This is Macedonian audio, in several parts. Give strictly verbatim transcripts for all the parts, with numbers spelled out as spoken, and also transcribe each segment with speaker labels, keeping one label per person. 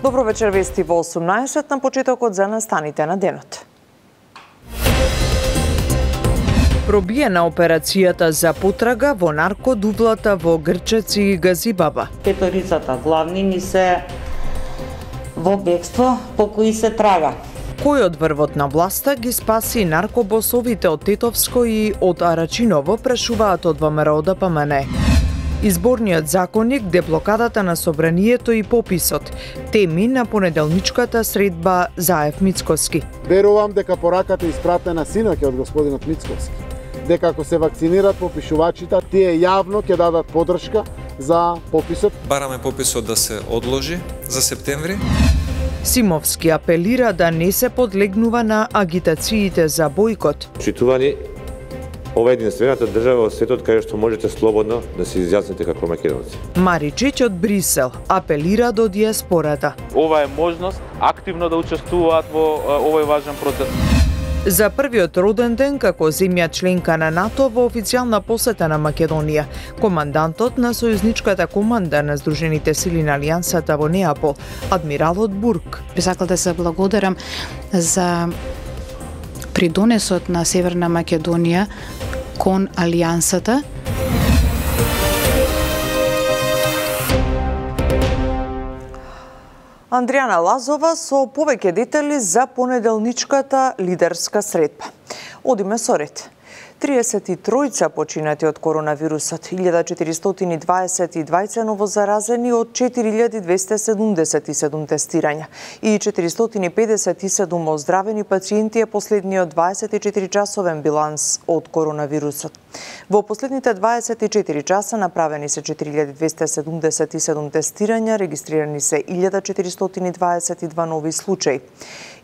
Speaker 1: Добро вечер, вести во осумнаесет на почетокот за настаните на денот. Пробиена операцијата за потрага во наркодувлата во Грчец и Газибаба.
Speaker 2: Петорицата главни ни се во бегство по кои се трага.
Speaker 1: Кој од врвот на власта ги спаси наркобосовите од Тетовско и од Арачиново, прашуваат од ВМРО Д П М Н. Изборниот законник, деблокадата на собранието и пописот. Теми на понеделничката средба Заев Мицкоски.
Speaker 3: Верувам дека пораката испратена синоќ од господинот Мицкоски, дека ако се вакцинираат попишувачите, тие јавно ќе дадат подршка за пописот.
Speaker 4: Бараме пописот да се одложи за септември.
Speaker 1: Симовски апелира да не се подлегнува на агитациите за бојкот.
Speaker 5: Читувани, ова е единствената држава во светот кај што можете слободно да се изјасните како македонци.
Speaker 1: Маричич од Брисел апелира до диаспората.
Speaker 6: Ова е можност активно да учествуваат во овој важен процес.
Speaker 1: За првиот роден ден како земја членка на НАТО во официјална посета на Македонија, командантот на сојузничката команда на Сдружените сили на Алијансата во Неапол, адмиралот Бурк.
Speaker 7: Би сакал да се благодарам за придонесот на Северна Македонија кон Алијансата.
Speaker 1: Андријана Лазова со повеќе детали за понеделничката лидерска средба. Одиме со ред. триесет и тројца починати од коронавирусот, илјада четиристотини и дваесет и двајца новозаразени од четири илјади двесте седумдесет и седум тестирања и четиристотини и педесет и седум оздравени пациенти е последниот дваесет и четири часовен биланс од коронавирусот. Во последните дваесет и четири часа направени се четири илјади двесте седумдесет и седум тестирања, регистрирани се илјада четиристотини и дваесет и два нови случаи.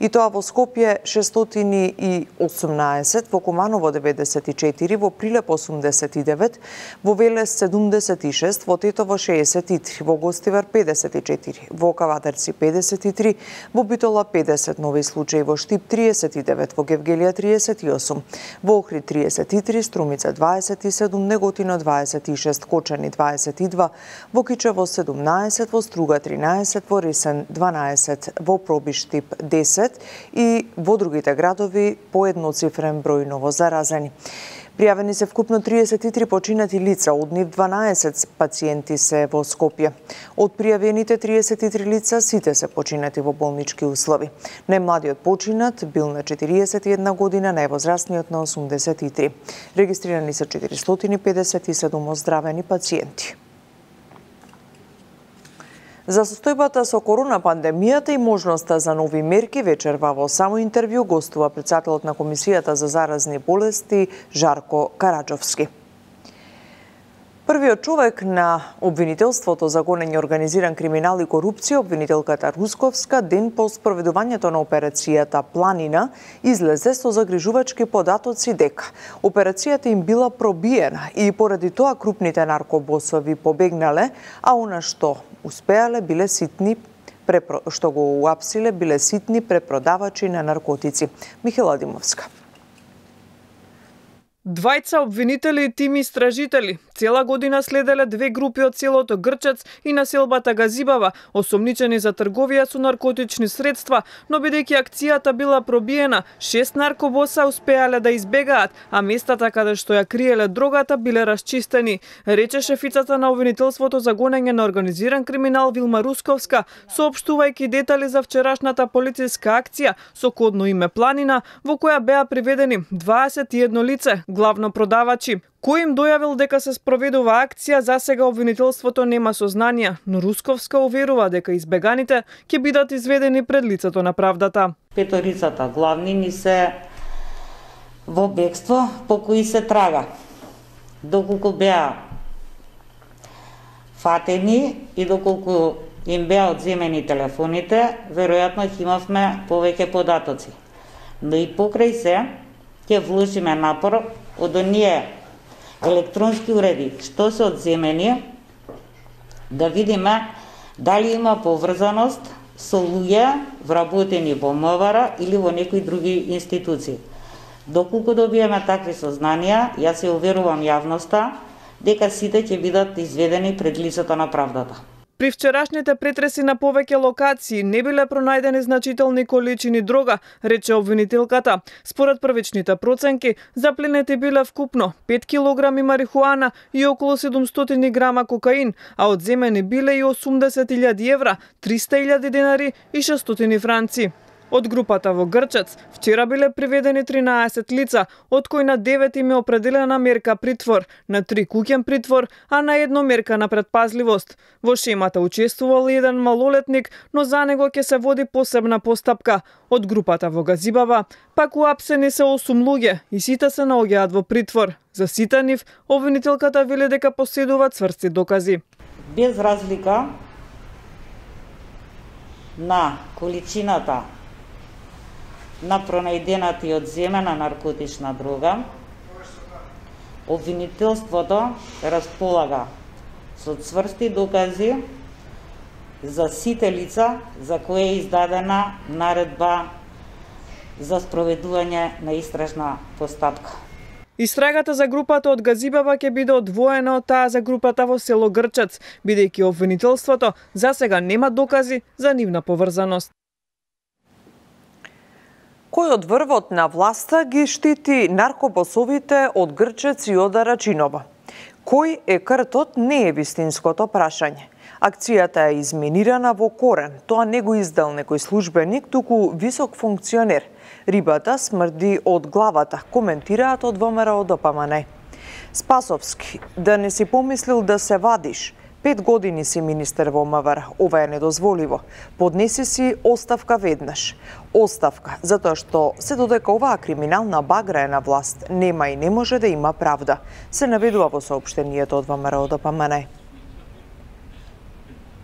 Speaker 1: И тоа во Скопје шестстотини и осумнаесет, во Куманово деветдесет и четири, во Прилеп осумдесет и девет, во Велес седумдесет и шест, во Тетово шеесет и три, во Гостивар педесет и четири, во Кавадарци педесет и три, во Битола педесет нови случаи, во Штип триесет и девет, во Гевгелија триесет и осум, во Охрид триесет и три, Струмица дваесет и седум, Неготино дваесет и шест, Кочани дваесет и два, во Кичево седумнаесет, во Струга тринаесет, во Ресен дванаесет, во Пробиштип десет и во другите градови по едноцифрен број новозаразени. Пријавени се вкупно триесет и три починати лица, од нив дванаесет пациенти се во Скопје. Од пријавените триесет и три лица, сите се починати во болнички услови. Најмладиот починат бил на четириесет и една година, највозрастниот на осумдесет и три. Регистрирани се четиристотини и педесет и седум оздравени пациенти. За состојбата со корона пандемијата и можноста за нови мерки, вечерва во само интервју гостува претседателот на Комисијата за заразни болести Жарко Караџовски. Првиот човек на обвинителството за гонење организиран криминал и корупција, обвинителката Русковска, ден по спроведувањето на операцијата Планина, излезе со загрижувачки податоци дека операцијата им била пробиена и поради тоа крупните наркобосови побегнале, а она што успеале биле ситни препро... што го уапсиле биле ситни препродавачи на наркотици. Михела Димовска.
Speaker 8: Двајца обвинители и тим истражители цела година следеле две групи од селото Грчец и населбата Газибава, осомничени за трговија со наркотични средства, но бидејќи акцијата била пробиена, шест наркобоса успеале да избегаат, а местата каде што ја криеле дрогата биле расчистени, рече шефицата на обвинителството за гонење на организиран криминал Вилма Русковска, соопштувајќи детали за вчерашната полициска акција со кодно име Планина, во која беа приведени дваесет и едно лице, главно продавачи. Кој им дојавил дека се спроведува акција, за сега обвинителството нема сознанија, но Русковска уверува дека избеганите ќе бидат изведени пред лицето на правдата.
Speaker 2: Петорицата главни ни се во бегство по кои се трага. Доколку беа фатени и доколку им беа одземени телефоните, веројатно ќе имавме повеќе податоци. Но и покрај се ќе вложиме напор од оние електронски уреди што се одземени, да видиме дали има поврзаност со луѓе вработени во МВР или во некои други институции. Доколку добиеме такви сознанија, јас се уверувам јавноста дека сите ќе бидат изведени пред лицето на правдата.
Speaker 8: При вчерашните претреси на повеќе локации не биле пронајдени значителни количини дрога, рече обвинителката. Според првичните проценки, запленети биле вкупно пет килограми марихуана и околу седумстотини грама кокаин, а одземени биле и осумдесет илјади евра, триста илјади денари и шестстотини франци. Од групата во Грчец вчера биле приведени тринаесет лица, од кои на девет им е определена мерка притвор, на три куќен притвор, а на едно мерка на предпазливост. Во шемата учествувал еден малолетник, но за него ќе се води посебна постапка. Од групата во Газибава пак уапсени се осум луѓе и сите се наоѓаат во притвор. За сите нив обвинителката вели дека поседуваат цврсти докази.
Speaker 2: Без разлика на количината на пронајдената и одземена наркотична дрога, обвинителството располага со цврсти докази за сите лица за кои е издадена наредба за спроведување на истражна постапка.
Speaker 8: Истрагата за групата од Газибава ќе биде одвоена од таа за групата во село Грчец, бидејќи обвинителството за сега нема докази за нивна поврзаност.
Speaker 1: Кој од врвот на власта ги штити наркобосовите од Грчец и од Арачиново? Кој е кртот не е вистинското прашање. Акцијата е изменирана во корен. Тоа не го издал некој службеник, туку висок функционер. Рибата смрди од главата, коментираат од ВМРО ДПМН. Спасовски, да не си помислил да се вадиш. Пет години си министер во МВР, ова е недозволиво. Поднеси си оставка веднаш. Оставка, затоа што се додека оваа криминална багра е на власт, нема и не може да има правда, се наведува во соопштението од ВМРО ДПМН.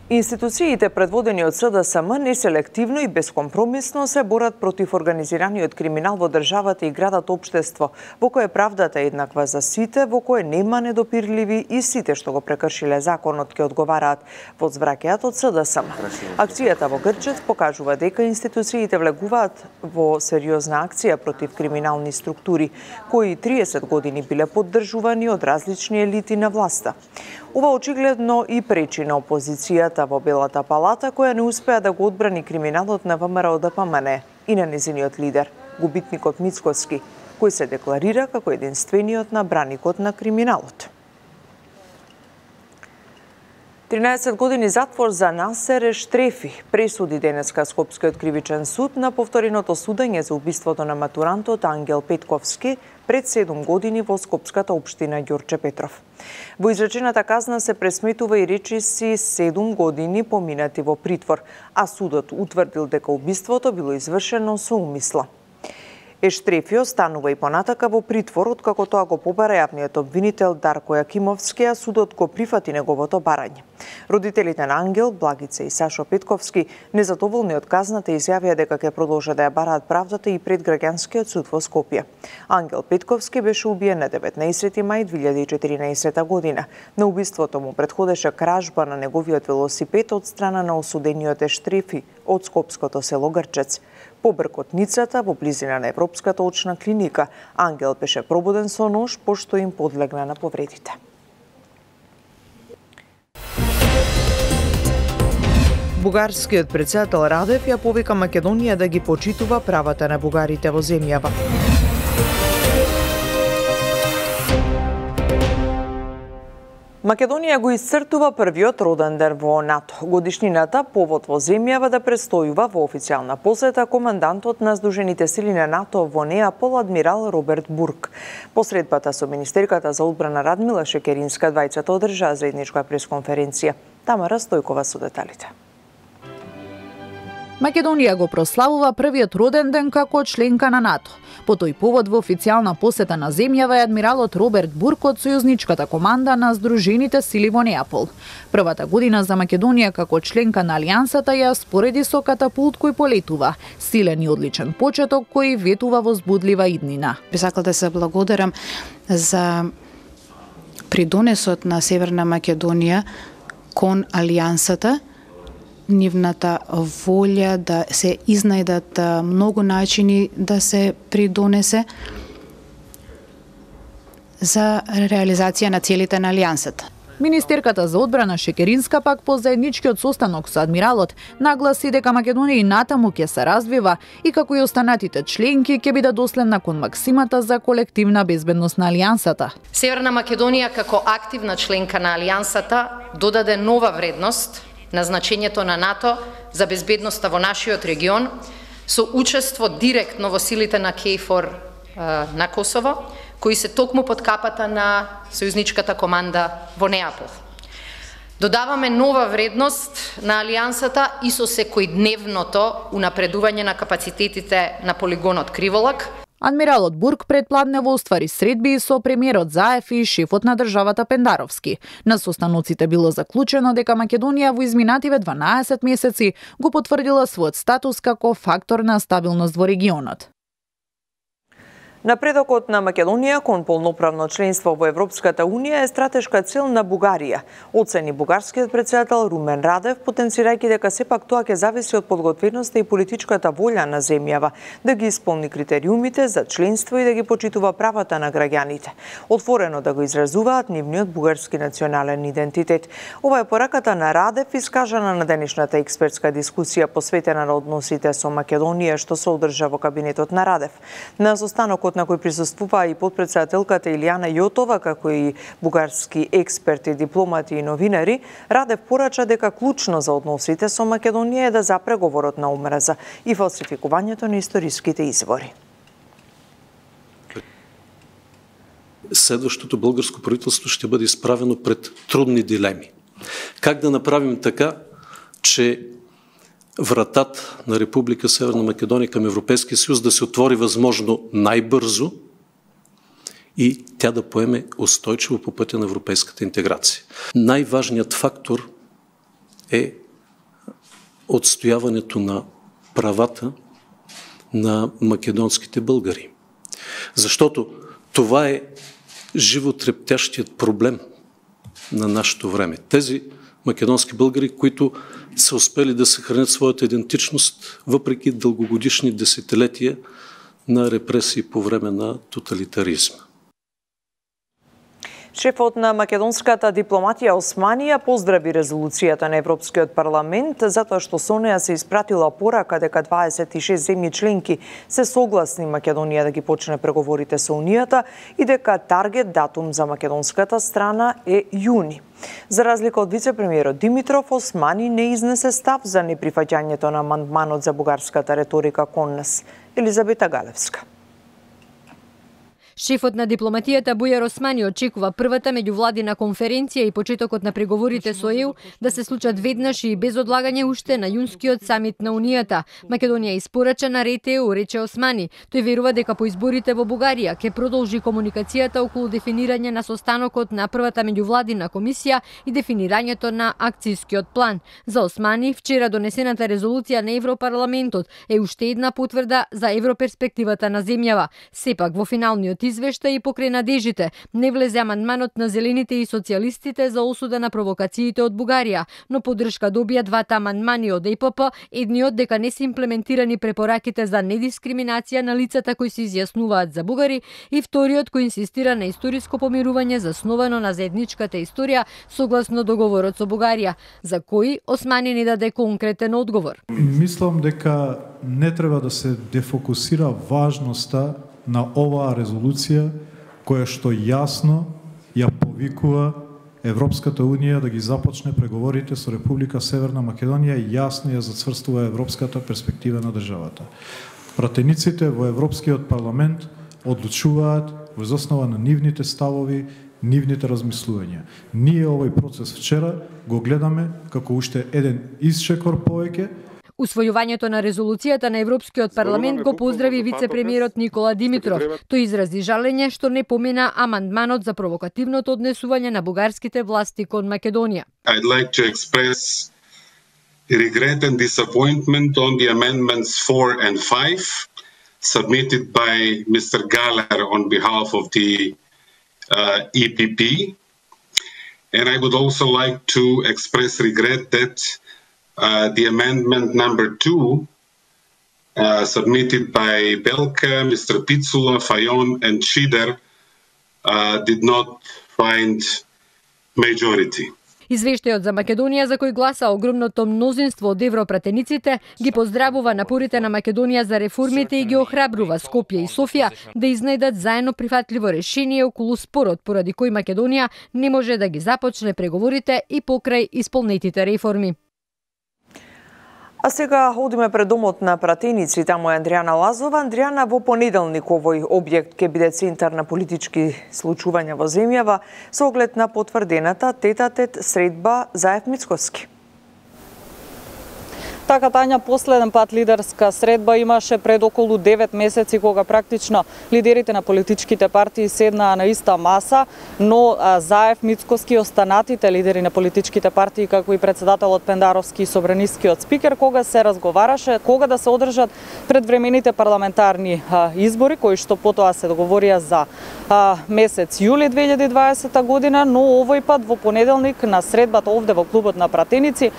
Speaker 1: Институциите предводени од СДСМ неселективно и бескомпромисно се борат против организираниот криминал во државата и градат општество, во кое правдата е еднаква за сите, во кое нема недопирливи и сите што го прекршиле законот ќе одговараат, возвраќаат од СДСМ. Акцијата во Грчец покажува дека институциите влегуваат во сериозна акција против криминални структури, кои триесет години биле поддржувани од различни елити на власта. Ова очигледно и пречи на опозицијата во Белата палата, која не успеа да го одбрани криминалот на ВМРО ДПМН и на незиниот лидер, губитникот Мицкоски, кој се декларира како единствениот набраникот на криминалот. тринаесет години затвор за Насер Ештрефи пресуди денеска Скопскиот кривичен суд на повтореното судење за убиството на матурантот Ангел Петковски пред седум години во Скопската општина Ѓорче Петров. Во изречената казна се пресметува и речиси седум години поминати во притвор, а судот утврдил дека убиството било извршено со умисла. Ештрефи останува и понатака во притвор, откако тоа го побара јавниот обвинител Дарко Јакимовски, а судот го прифати неговото барање. Родителите на Ангел, Благица и Сашо Петковски, незадоволни од казната, изјавија дека ќе продолжат да ја бараат правдата и пред граѓанскиот суд во Скопје. Ангел Петковски беше убиен на деветнаесети мај две илјади и четиринаесета година. На убиството му претходеше кражба на неговиот велосипед од страна на осудениот Ештрефи од скопското село Грчец. По бркотницата во близина на Европската очна клиника, Ангел беше пробуден со нож, пошто им подлегна на повредите. Бугарскиот претседател Радев ја повика Македонија да ги почитува правата на бугарите во земјава. Македонија го исцртува првиот роден ден во НАТО. Годишнината повод во земјава да престојува во официјална посета командантот на Сдружените сили на НАТО во Неапол адмирал Роберт Бург. По средбата со министерката за одбрана Радмила Шекеринска двајцата одржаа заедничка пресконференција. Тамара Стојкова со деталите.
Speaker 9: Македонија го прославува првиот роден ден како членка на НАТО. По тој повод во официјална посета на земјава е адмиралот Роберт Бург од сојузничката команда на Сдружените сили во Неапол. Првата година за Македонија како членка на Алијансата ја спореди со катапулт кој полетува, силен и одличен почеток кој ветува возбудлива иднина.
Speaker 7: Би сакал да се благодарам за придонесот на Северна Македонија кон Алијансата, нивната волја да се изнајдат многу начини да се придонесе за реализација на целите на Алијансата.
Speaker 9: Министерката за одбрана Шекеринска пак по заедничкиот состанок со адмиралот нагласи дека Македонија и натаму ќе се развива и како и останатите членки ќе биде доследна кон максимата за колективна безбедност на алијансата.
Speaker 10: Северна Македонија како активна членка на алијансата додаде нова вредност на значењето на НАТО за безбедноста во нашиот регион со учество директно во силите на КЕЙФОР на Косово, кои се токму под капата на сојузничката команда во Неапол. Додаваме нова вредност на алијансата и со секојдневното унапредување на капацитетите на полигонот Криволак.
Speaker 9: Адмиралот Бурк предпладнево оствари средби со премиерот Заев и шефот на државата Пендаровски. На состаноците било заклучено дека Македонија во изминативе дванаесет месеци го потврдила својот статус како фактор на стабилност во регионот.
Speaker 1: Напредокот на Македонија кон полноправно членство во Европската Унија е стратешка цел на Бугарија, оцени бугарскиот претседател Румен Радев, потенцирајќи дека сепак тоа ќе зависи од подготвеноста и политичката волја на земјава да ги исполни критериумите за членство и да ги почитува правата на граѓаните, отворено да го изразуваат нивниот бугарски национален идентитет. Ова е пораката на Радев искажана на денешната експертска дискусија посветена на односите со Македонија што се одржа во кабинетот на Радев. На состанокот на кој присуствуваа и подпредседателката Илијана Јотова, како и бугарски експерти, дипломати и новинари, Радев порача дека клучно за односите со Македонија е да запре говорот на омраза и фалсификувањето на историските извори.
Speaker 11: Следващото българско правителство ще бъде изправено пред трудни дилеми. Как да направим така, че вратата на Република Северна Македония към Европейския съюз да се отвори възможно най-бързо и тя да поеме устойчиво по пътя на европейската интеграция. Най-важният фактор е отстояването на правата на македонските българи. Защото това е животрептящият проблем на нашето време. Тези македонски българи, които са успели да съхранят своята идентичност, въпреки дългогодишни десетилетия на репресии по време на тоталитаризма.
Speaker 1: Шефот на македонската дипломатија Османи поздрави резолуцијата на Европскиот парламент затоа што со неа се испратила порака дека дваесет и шест земји членки се согласни Македонија да ги почне преговорите со Унијата и дека таргет датум за македонската страна е јуни. За разлика од вице-премиерот Димитров, Османи не изнесе став за неприфаќањето на амандманот за бугарската реторика кон нас. Елизабета Галевска.
Speaker 12: Шефот на дипломатијата Бујар Османи очекува првата меѓувладина конференција и почетокот на преговорите со ЕУ да се случат веднаш и без одлагање уште на јунскиот самит на Унијата. Македонија испорача на ред ЕУ, рече Османи. Тој верува дека по изборите во Бугарија ќе продолжи комуникацијата околу дефинирање на состанокот на првата меѓувладина комисија и дефинирањето на акцијскиот план. За Османи, вчера донесената резолуција на Европарламентот е уште една потврда за европерспективата на земјава. Сепак во финалниот извештај и покрај надежите не влезе амандманот на зелените и социјалистите за осуда на провокациите од Бугарија, но поддршка добија двата амандмани од Е П П, едниот дека не се имплементирани препораките за недискриминација на лицата кои се изјаснуваат за бугари и вториот кој инсистира на историско помирување засновано на заедничката историја согласно договорот со Бугарија, за кој Османи не даде конкретен одговор.
Speaker 13: Мислам дека не треба да се дефокусира важноста на оваа резолуција која што јасно ја повикува Европската Унија да ги започне преговорите со Република Северна Македонија и јасно ја зацврстува европската перспектива на државата. Пратениците во Европскиот парламент одлучуваат во основа на нивните ставови, нивните размислувања. Ние овој процес вчера го гледаме како уште еден исчекор повеќе.
Speaker 12: Усвојувањето на резолуцијата на Европскиот парламент го поздрави вице-премиерот Никола Димитров. Тој изрази жалење што не помена амандманот за провокативното однесување на бугарските власти кон Македонија.
Speaker 14: I'd like to express regret and disappointment on the amendments four and five submitted by Mister Galler on behalf of the uh, E P P. And I would also like to express regret that Uh, the amendment number two, uh, submitted by Belka, Mister Pitsula, Fayon, and Schieder, uh, did not find majority.
Speaker 12: Извештајот за Македонија, за кој гласа огромното мнозинство од европратениците, ги поздравува напорите на Македонија за реформите и ги охрабрува Скопје и Софија да изнајдат заедно прифатливо решение околу спорот поради кој Македонија не може да ги започне преговорите и покрај исполнетите реформи.
Speaker 1: А сега одиме пред домот на пратеници, таму е Андријана Лазова. Андријана, во понеделник овој објект ќе биде центар на политички случувања во земјава со оглед на потврдената тет-а-тет средба Заев Мицкоски.
Speaker 15: Така, Тања, последен пат лидерска средба имаше пред околу девет месеци, кога практично лидерите на политичките партии седнаа на иста маса, но Заев, Мицкоски и останатите лидери на политичките партии, како и председателот Пендаровски и собранискиот спикер, кога се разговараше кога да се одржат предвремените парламентарни а, избори, кои што потоа се договорија за а, месец јули две илјади и дваесета година, но овој пат во понеделник на средбата овде во клубот на пратеници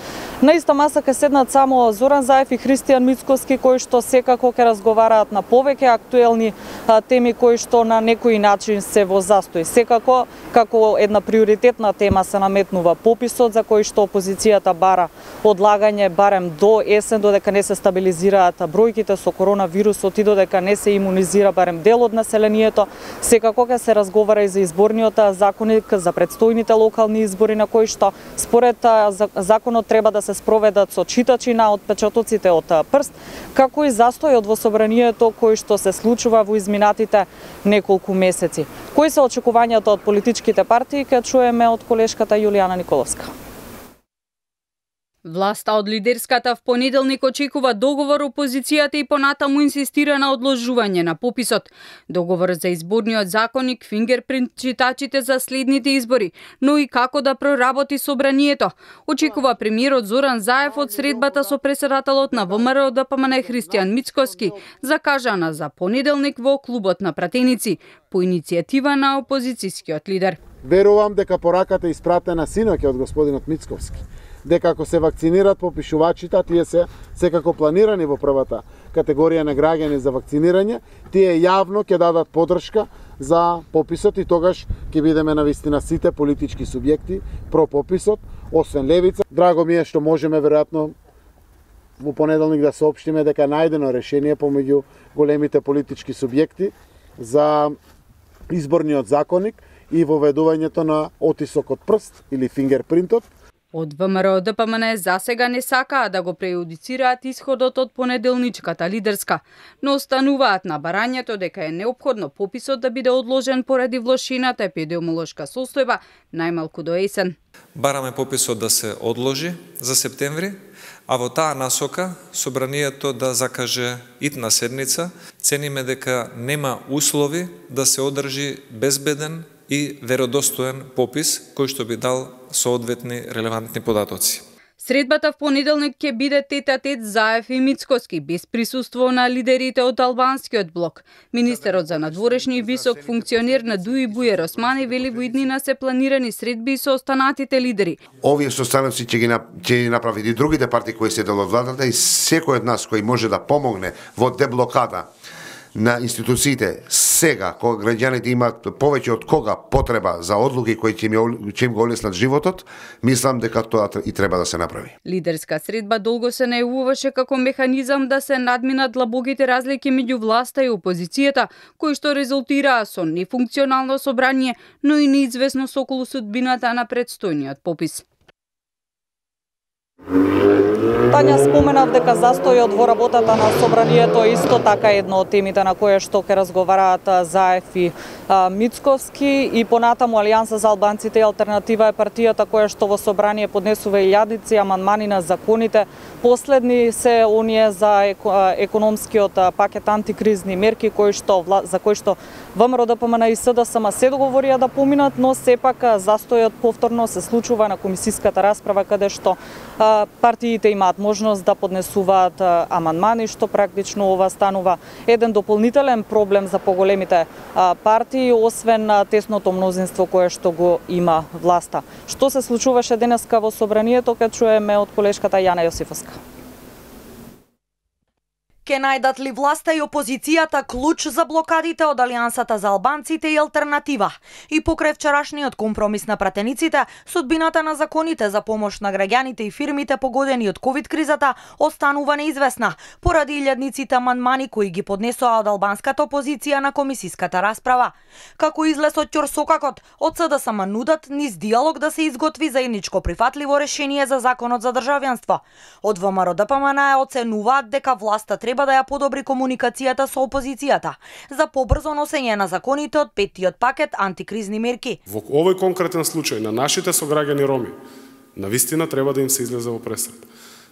Speaker 15: на иста маса ќе седнат само Зоран Заев и Христијан Мицкоски, кои што секако ќе разговараат на повеќе актуелни а, теми кои што на некој начин се во застој. Секако, како една приоритетна тема се наметнува пописот, за кој што опозицијата бара одлагање барем до есен, додека не се стабилизираат бројките со коронавирусот и додека не се имунизира барем дел од населението. Секако ќе се разговара и за изборниот законник, за предстојните локални избори, на кои што според законот треба да се спроведат со читачи на отпечатоците од прст, како и застојот во собранието кој што се случува во изминатите неколку месеци. Кои се очекувањата од политичките партии, ќе чуеме од колешката Јулијана Николовска.
Speaker 16: Власта од лидерската в понеделник очекува договор, опозицијата и понатаму инсистира на одложување на пописот. Договор за изборниот законник, фингерпринт читачите за следните избори, но и како да проработи собранието. Очекува премиерот Зоран Заев од средбата со председателот на ВМРО Д П М Н Христијан Мицкоски, закажана за понеделник во клубот на пратеници, по иницијатива на опозицијскиот лидер.
Speaker 3: Верувам дека пораката е испратена синоќа од господинот Мицковски, дека ако се вакцинират попишувачите, тие се секако планирани во првата категорија на граѓани за вакцинирање, тие јавно ќе дадат подршка за пописот и тогаш ќе бидеме навистина сите политички субјекти про пописот, освен Левица. Драго ми е што можеме веројатно во понеделник да соопштиме дека најдено решение помеѓу големите политички субјекти за изборниот законник и воведувањето на отисок од прст или фингерпринтот.
Speaker 16: Од ВМРО Д П М Н засега не сакаа да го прејудицираат исходот од понеделничката лидерска, но остануваат на барањето дека е неопходно пописот да биде одложен поради влошената епидемиолошка состојба најмалку до есен.
Speaker 4: Бараме пописот да се одложи за септември, а во таа насока собранието да закаже итна седница. Цениме дека нема услови да се одржи безбеден и веродостоен попис кој што би дал соодветни релевантни податоци.
Speaker 16: Средбата в понеделник ќе биде тет-а-тет Заев и Мицкоски, без присуство на лидерите од албанскиот блок. Министерот за надворешни и висок функционер на ДУИ Бујар Османи вели во иднина се планирани средби со останатите лидери.
Speaker 17: Овие состаноци ќе ги ќе направи и другите партии кои се дел од владата и секој од нас кој може да помогне во деблокада на институциите сега, кога граѓаните имаат повеќе од кога потреба за одлуки кои ќе им го олеснат животот, мислам дека тоа и треба да се направи.
Speaker 16: Лидерска средба долго се најавуваше како механизам да се надминат длабоките разлики меѓу власта и опозицијата, кои што резултираа со нефункционално собрание, но и неизвестност околу судбината на предстојниот попис.
Speaker 15: Тања, споменав дека застојот во работата на собранието исто така едно од темите на која што ќе разговараат Заев и а, Мицковски, и понатаму Алијанса за албанците и алтернатива е партијата која што во собрание поднесува илјадици амандмани на законите. Последни се оние за економскиот пакет антикризни мерки кои што за кои што ВМРО Д П М Н и С Д С М се договорија да поминат, но сепак застојот повторно се случува на комисиската расправа каде што а, партиите имаат можност да поднесуваат амандмани, што практично ова станува еден дополнителен проблем за поголемите а, партии, освен а, тесното мнозинство кое што го има власта. Што се случуваше денеска во собранието, ќе чуеме од колешката Јана Јосифовска.
Speaker 18: Ке најдат ли власта и опозицијата клуч за блокадите од Алијансата за албанците и алтернатива? И покрај вчерашниот компромис на пратениците, судбината на законите за помош на граѓаните и фирмите погодени од ковид кризата останува неизвестна, поради илјадниците амандмани кои ги поднесоа од албанската опозиција на комисиската расправа. Како излез од ќорсокакот, од СДСМ нудат низ диалог да се изготви заедничко прифатливо решение за законот за државјанство. Од ВМРО Д П М Н оценуваат дека власта треба да ја подобри комуникацијата со опозицијата за побрзо носење на законите од петтиот пакет антикризни мерки.
Speaker 19: Во овој конкретен случај на нашите сограѓани роми, навистина треба да им се излезе во пресред.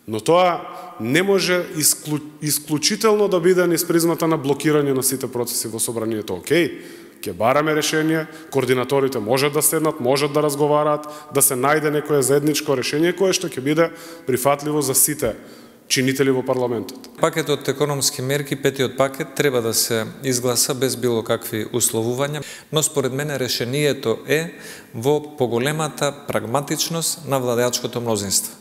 Speaker 19: Но тоа не може исклу... исклучително да биде низ призмата на блокирање на сите процеси во собранието. Океј, ќе бараме решение, координаторите можат да седнат, можат да разговараат, да се најде некое заедничко решение кое што ќе биде прифатливо за сите чинители во парламентот.
Speaker 4: Пакетот економски мерки, петиот пакет, треба да се изгласа без било какви условувања, но според мене решението е во поголемата прагматичност на владеачкото мнозинство.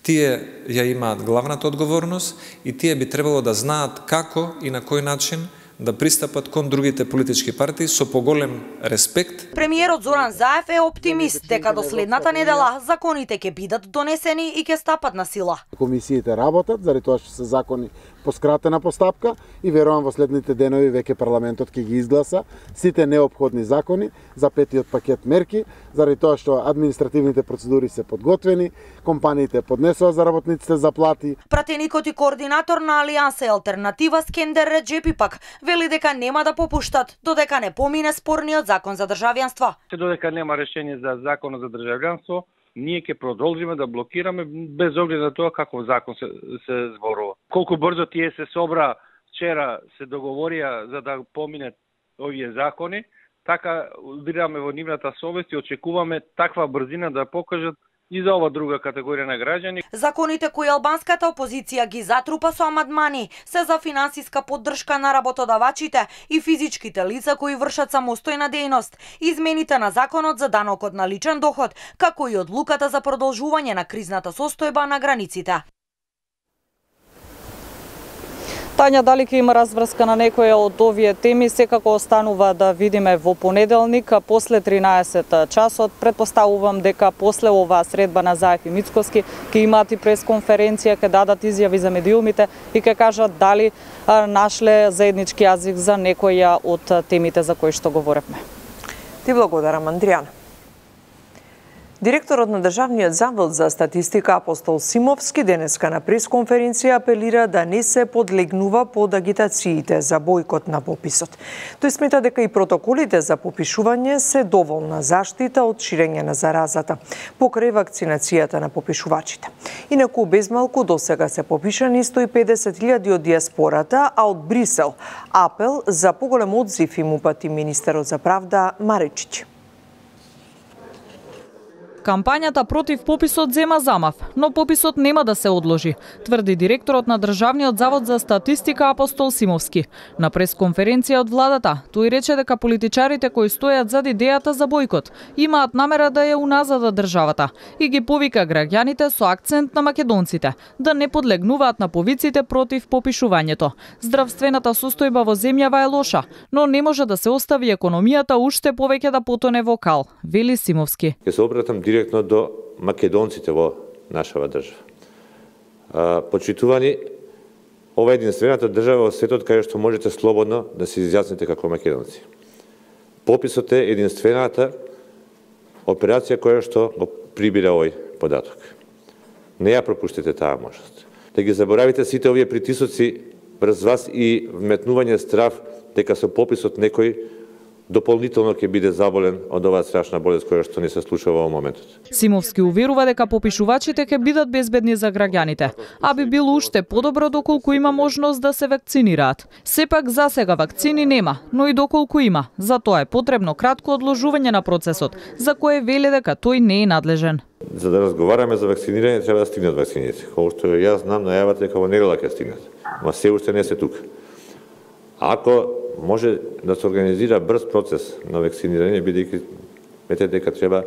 Speaker 4: Тие ја имаат главната одговорност и тие би требало да знаат како и на кој начин да пристапат кон другите политички партии со поголем респект.
Speaker 18: Премиерот Зоран Заев е оптимист дека до следната недела законите ќе бидат донесени и ќе стапат на сила.
Speaker 3: Комисиите работат, заради тоа што се закони по скратена постапка и верувам во следните денови веќе парламентот ќе ги изгласа сите неопходни закони за петиот пакет мерки, заради тоа што административните процедури се подготвени, компаниите поднесоа за работниците заплати.
Speaker 18: Пратеникот и координатор на Алијанса и алтернатива Скендер Реджепи пак вели дека нема да попуштат додека не помине спорниот закон за државјанство.
Speaker 20: Додека нема решение за законот за државјанство, ние ќе продолжиме да блокираме без оглед на тоа каков закон се, се зборува. Колку брзо тие се собра вчера се договорија за да поминат овие закони, така убираме во нивната совест и очекуваме таква брзина да покажат и за ова друга категорија на граѓани.
Speaker 18: Законите кои албанската опозиција ги затрупа со амандмани се за финансиска поддршка на работодавачите и физичките лица кои вршат самостојна дејност, измените на законот за данокот на личен доход, како и одлуката за продолжување на кризната состојба на границите.
Speaker 15: Тања, дали ќе има разврска на некоја од овие теми, секако останува да видиме во понеделник, после тринаесет часот. Предпоставувам дека после оваа средба на Заев и Мицковски ќе имаат и пресконференција, ќе дадат изјави за медиумите и ќе кажат дали нашле заеднички јазик за некоја од темите за кои што говоревме.
Speaker 1: Ти благодарам, Андријана. Директорот на Државниот завод за статистика Апостол Симовски денеска на пресконференција апелира да не се подлегнува под агитациите за бојкот на пописот. Тој смета дека и протоколите за попишување се доволна заштита од ширење на заразата покрај вакцинацијата на попишувачите. Инаку безмалку досега се попишани сто и педесет илјади од диаспората, а од Брисел апел за поголем одзив им упати министерот за правда Маречиќ.
Speaker 15: Кампањата против пописот зема замав, но пописот нема да се одложи, тврди директорот на Државниот завод за статистика Апостол Симовски. На пресконференција од владата, тој рече дека политичарите кои стојат зад идејата за бојкот имаат намера да ја уназадат државата и ги повика граѓаните со акцент на македонците да не подлегнуваат на повиците против попишувањето. Здравствената состојба во земјава е лоша, но не може да се остави економијата уште повеќе да потоне во кал, вели Симовски.
Speaker 5: Ќе се обратам директно до македонците во нашава држава. Почитувани, ова е единствената држава во светот каде што можете слободно да се изјасните како македонци. Пописот е единствената операција која што го прибира овој податок. Не ја пропуштите таа можност. Да ги заборавите сите овие притисоци врз вас и вметнување страв дека со пописот некој дополнително ќе биде заболен од оваа страшна болест која што не се случува во моментот.
Speaker 15: Симовски уверува дека попишувачите ќе бидат безбедни за граѓаните, а би било уште подобро доколку има можност да се вакцинираат. Сепак за сега вакцини нема, но и доколку има, за тоа е потребно кратко одложување на процесот, за кое вели дека тој не е надлежен.
Speaker 5: За да разговараме за вакцинирање треба да стигнат вакцините. Колку што јас знам, најавата дека во недела ќе стигнат, ама се уште не се тука. Ако може да се организира брз процес на вакцинирање, бидејќи мете дека треба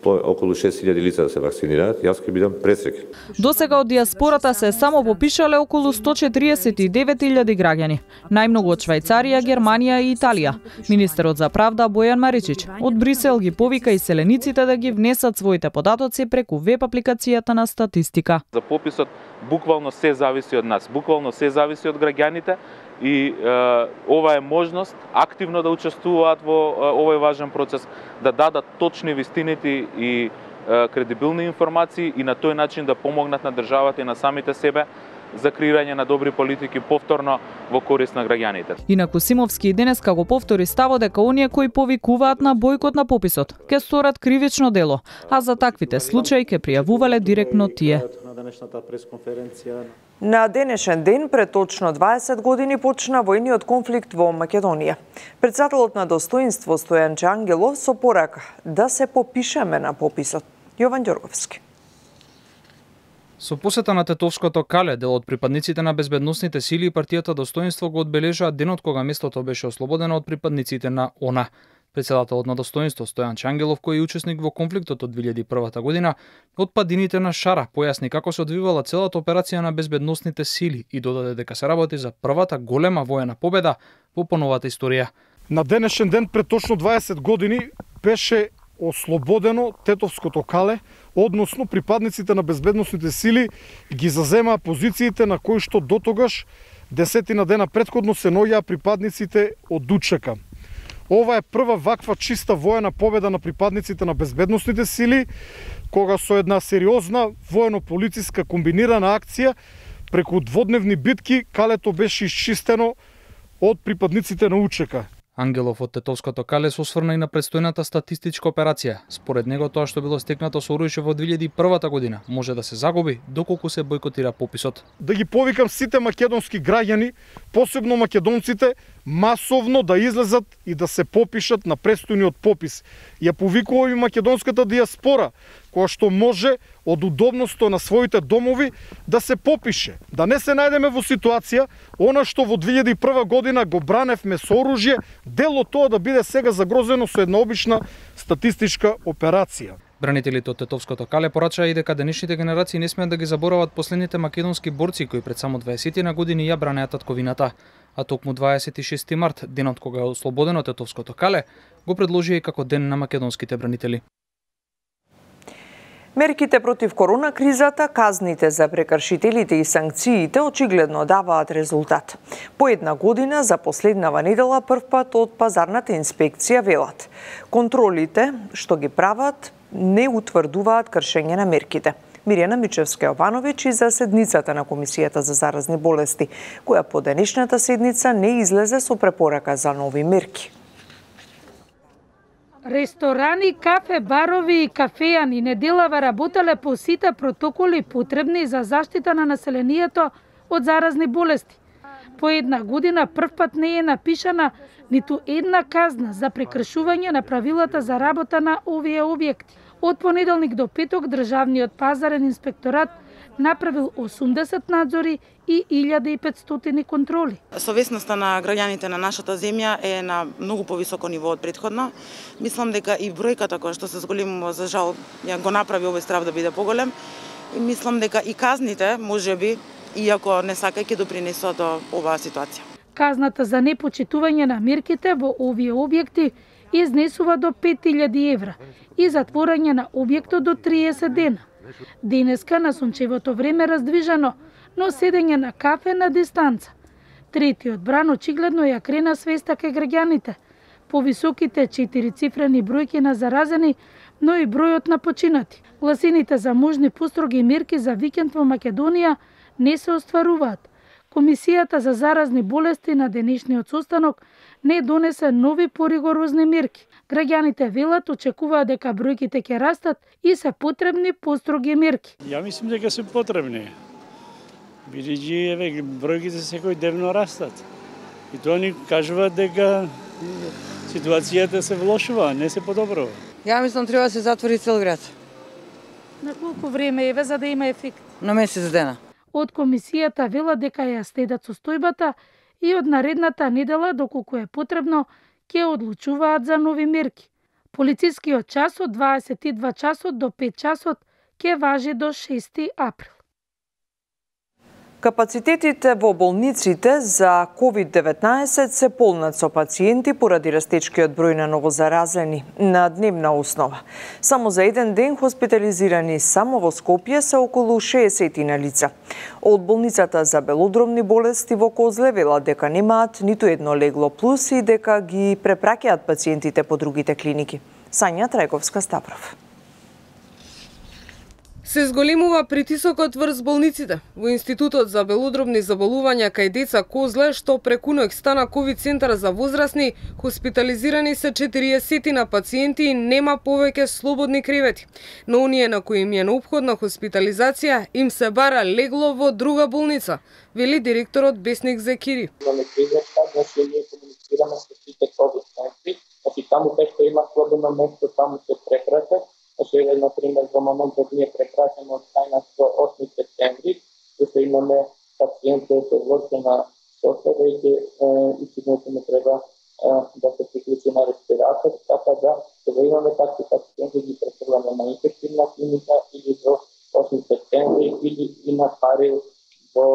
Speaker 5: по околу шест илјади лица да се вакцинираат, јас ќе бидам пресреќен.
Speaker 15: Досега од диаспората се само попишале околу сто четиридесет и девет илјади граѓани, најмногу од Швајцарија, Германија и Италија. Министерот за правда Бојан Маричич од Брисел ги повика иселениците да ги внесат своите податоци преку веб апликацијата на статистика.
Speaker 6: За пописот буквално се зависи од нас, буквално се зависи од граѓаните и е, ова е можност активно да учествуваат во е, овој важен процес, да дадат точни вистините и е, кредибилни информации и на тој начин да помогнат на државата и на самите себе за креирање на добри политики повторно во корист на граѓаните.
Speaker 15: Инаку Симовски и денеска го повтори ставот дека оние кои повикуваат на бојкот на пописот ќе сторат кривично дело, а за таквите случаи ќе пријавувале директно тие.
Speaker 1: На денешен ден, пред точно дваесет години, почна војниот конфликт во Македонија. Председателот на Достоинство Стојанче Ангелов со порака да се попишеме на пописот. Јован Ѓорговски.
Speaker 21: Со посета на Тетовското кале, дел од припадниците на безбедносните сили и партијата Достоинство го одбележаа денот кога местото беше ослободено од припадниците на ОНА. Председателот на Достоинство Стојанче Ангелов, кој е учесник во конфликтот од две илјади и прва година, од падините на Шара појасни како се одвивала целата операција на безбедносните сили и додаде дека се работи за првата голема воена победа во поновата историја.
Speaker 22: На денешен ден пред точно дваесет години беше ослободено Тетовското кале, односно припадниците на безбедносните сили ги заземаа позициите на кои што дотогаш десетина дена претходно се наоѓаа припадниците од ДУЧК. Ова е прва ваква чиста воена победа на припадниците на безбедносните сили, кога со една сериозна воено-полициска комбинирана акција преку дводневни битки калето беше исчистено од припадниците на УЧК.
Speaker 21: Ангелов од Тетовското кале се осврна и на предстојната статистичка операција. Според него тоа што било стекнато со оружје во две илјади и прва година може да се загуби доколку се бојкотира пописот.
Speaker 22: Да ги повикам сите македонски граѓани, посебно македонците, масовно да излезат и да се попишат на престојниот попис. Ја повикувам и македонската диаспора, која што може од удобноста на своите домови да се попише. Да не се најдеме во ситуација, она што во две илјади и прва година го браневме со оружје, дело тоа да биде сега загрозено со една обична статистичка операција.
Speaker 21: Бранителите од Тетовското кале порачаа и дека денешните генерации не смеат да ги заборават последните македонски борци кои пред само дваесет на години ја бранеа татковината. А токму дваесет и шести март, денот кога е ослободено Тетовското кале, го предложија и како ден на македонските бранители.
Speaker 1: Мерките против корона кризата, казните за прекршителите и санкциите очигледно даваат резултат. По една година за последнава недела првпат од пазарната инспекција велат. Контролите што ги прават не утврдуваат кршење на мерките. Мирјана Мичевска-Јовановиќ и за седницата на Комисијата за заразни болести, која по денешната седница не излезе со препорака за нови мерки.
Speaker 23: Ресторани, кафе, барови и кафејани неделава работеле по сите протоколи потребни за заштита на населението од заразни болести. По една година првпат не е напишана ниту една казна за прекршување на правилата за работа на овие објекти. Од понеделник до петок Државниот пазарен инспекторат направил осумдесет надзори и илјада и петстотини контроли.
Speaker 24: Совесноста на граѓаните на нашата земја е на многу повисоко ниво од претходно. Мислам дека и бројката која што се зголемува, за жал, ја го направи овој страв да биде поголем. И мислам дека и казните, можеби, иако не сака, ќе допринесува до оваа ситуација.
Speaker 23: Казната за непочитување на мерките во овие објекти изнесува до пет илјади евра и затворање на објектот до триесет дена. Денеска на сончевото време раздвижено, но седење на кафе на дистанца. Третиот бран очигледно ја крена свеста кај граѓаните. Повисоките четирицифрени бројки на заразени, но и бројот на починати. Гласините за можни построги мерки за викенд во Македонија не се остваруваат. Комисијата за заразни болести на денешниот состанок не донесе нови поригорозни мерки. Граѓаните велат очекуваат дека бројките ќе растат и се потребни построги мерки.
Speaker 25: Ја мислам дека се потребни. Бидејќи еве бројките секој дневно растат. И тоа ни кажуваат дека ситуацијата се влошува, не се подобрува.
Speaker 26: Ја мислам треба да се затвори цел град.
Speaker 23: На колку време еве за да има ефект?
Speaker 26: На месец дена.
Speaker 23: Од комисијата велат дека ја следат состојбата и од наредната недела, доколку е потребно, ќе одлучуваат за нови мерки. Полицискиот час од дваесет и два часот до пет часот ќе важи до шести април.
Speaker 1: Капацитетите во болниците за ковид деветнаесет се полнат со пациенти поради растечкиот број на новозаразени на дневна основа. Само за еден ден хоспитализирани само во Скопје се околу шеесет лица. Од болницата за белодробни болести во Козле велат дека немаат ниту едно легло плюс и дека ги препраќаат пациентите по другите клиники. Сања Трајковска-Ставров.
Speaker 2: Се зголемува притисокот врз болниците. Во Институтот за белодробни заболувања кај деца Козле, што преку ноќ стана ковид центар за возрастни, хоспитализирани се четириесет на пациенти и нема повеќе слободни кревети. Но оние на кои им е неопходна хоспитализација, им се бара легло во друга болница, вели директорот Бесник Зекири.
Speaker 7: Имаме клиничка, значи ние комуницираме со сите ковид центри, значи таму кај што има слободно место, таму се препраќа. Значи, например, во моментот ние препраќаме од тајна до осми септември, зашто имаме пациенти со влошена состојба и истината не треба да се приклучи на респиратор, така да кога имаме такви пациенти ги префрламе на инфективна клиника или до осми септември или и на пари во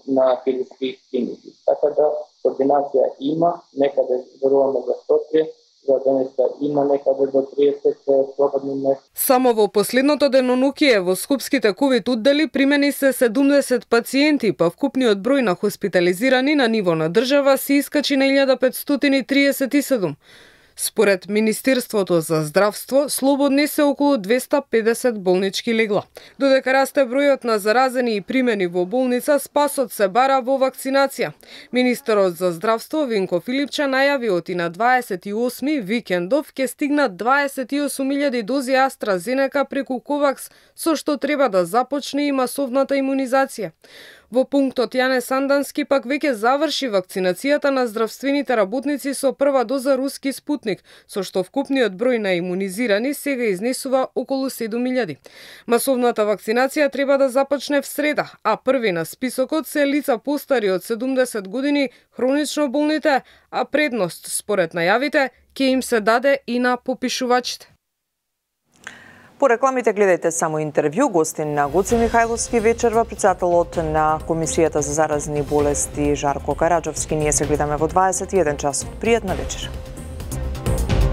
Speaker 7: на хируршки клиники. Така да координација има, некаде веруваме за Скопје, за денеска има некаде до триесет слободни места.
Speaker 2: Само во последното денонокие во скопските ковид оддели примени се седумдесет пациенти, па вкупниот број на хоспитализирани на ниво на држава се искачи на илјада петстотини триесет и седум. Според Министерството за здравство, слободни се околу двеста педесет болнички легла. Додека расте бројот на заразени и примени во болница, спасот се бара во вакцинација. Министерот за здравство Венко Филипче најави оти на дваесет и осми викендов ќе стигнат дваесет и осум илјади дози AstraZeneca преку Ковакс, со што треба да започне и масовната имунизација. Во пунктот Јане Сандански пак веќе заврши вакцинацијата на здравствените работници со прва доза руски Спутник, со што вкупниот број на имунизирани сега изнесува околу седум илјади. Масовната вакцинација треба да започне в среда, а први на списокот се лица постари од седумдесет години, хронично болните, а предност, според најавите, ќе им се даде и на попишувачите.
Speaker 1: По рекламите гледајте само интервју. Гостин на Гоце Михајловски вечерва, председателот на Комисијата за заразни болести Жарко Караџовски. Ние се гледаме во дваесет и еден часот. Пријатна вечер.